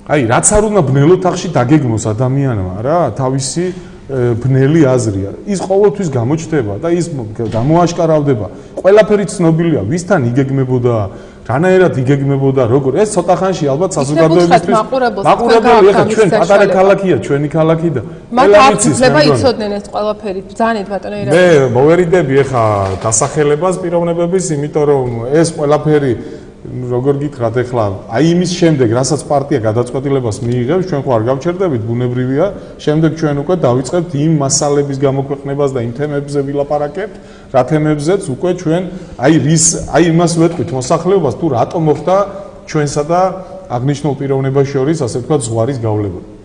აი, რაც არ უნდა ბნელოთ ახში დაგეგმოს ადამიანმა რა, თავისი ბნელი აზრია. ის ყოველთვის გამოჩნდება და ის გამოაშკარავდება. ყველაფერი ცნობილია, ვისთან იგეგმებოდა, რანაირად იგეგმებოდა, როგორ ეს ცოტა ხანში ალბათ საზოგადოებისთვის მაყურებელი ხა ჩვენ პატარა ქალაქია, ჩვენი ქალაქი და მათ არც ძლება იცოდნენ ეს ყველაფერი. ბრძანეთ ბატონო ერა. მე მოვერიდები ხა დასახელებას პიროვნებების, იმიტომ რომ ეს ყველაფერი როგორ გითხრათ ეხლა აი იმის შემდეგ რასაც პარტია გადაწყვეტილებას მიიღებს ჩვენ ხო არ გავჩერდებით ბუნებრივია შემდეგ ჩვენ უკვე დავიწყებთ იმ მასალების გამოქვეყნებას და იმ თემებზე ვილაპარაკებთ რა თემებზეც უკვე ჩვენ აი იმას ვეთქვით მოსახლეობას თუ რატომ მოხდა ჩვენსა და აღნიშნულ პიროვნებას შორის ასე ვთქვათ ზღვარის გავლება